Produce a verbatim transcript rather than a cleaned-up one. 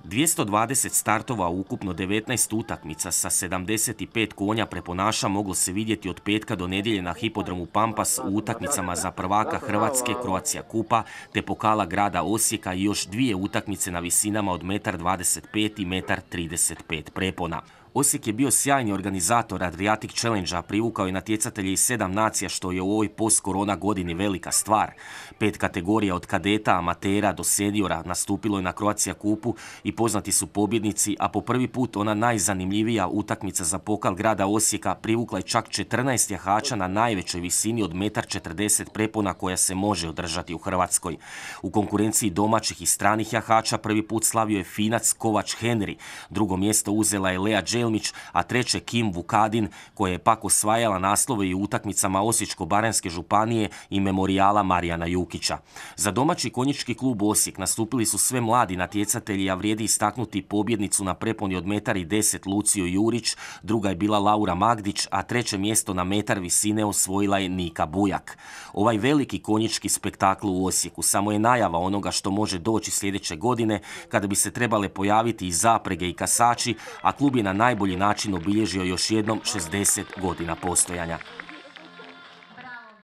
dvjesto dvadeset startova u ukupno devetnaest utakmica sa sedamdeset pet konja preponaša moglo se vidjeti od petka do nedjelje na hipodromu Pampas u utakmicama za prvaka Hrvatske, Croatia Kupa, te pokala grada Osijeka i još dvije utakmice na visinama od jedan dvadeset pet i jedan trideset pet prepona. Osijek je bio sjajni organizator Adriatic Challenge-a, privukao je natjecatelje iz sedam nacija, što je u ovoj post-korona godini velika stvar. Pet kategorija od kadeta, amatera do seniora nastupilo je na Croatia Kupu i poznati su pobjednici, a po prvi put ona najzanimljivija utakmica za pokal grada Osijeka privukla je čak četrnaest jahača na najvećoj visini od jedan četrdeset prepona koja se može održati u Hrvatskoj. U konkurenciji domaćih i stranih jahača prvi put slavio je Finac Kovač Henry, drugo mjesto uzela je Lea Đelmić, a treće Kim Vukadin, koja je pak osvajala naslove i u utakmicama Osječko-baranjske županije i memorijala Marijana Jukića. Za domaći konjički klub Osijek nastupili su sve mladi natjecatelji, a vrijedi istaknuti pobjednicu na preponi od jedan deset Luciju Jurić, druga je bila Laura Magdić, a treće mjesto na metar visine osvojila je Nika Bujak. Ovaj veliki konjički spektakl u Osijeku samo je najava onoga što može doći sljedeće godine, kada bi se trebale pojaviti i zaprege i kasači, a klub je na najbolji način obilježio još jednom šezdeset godina postojanja.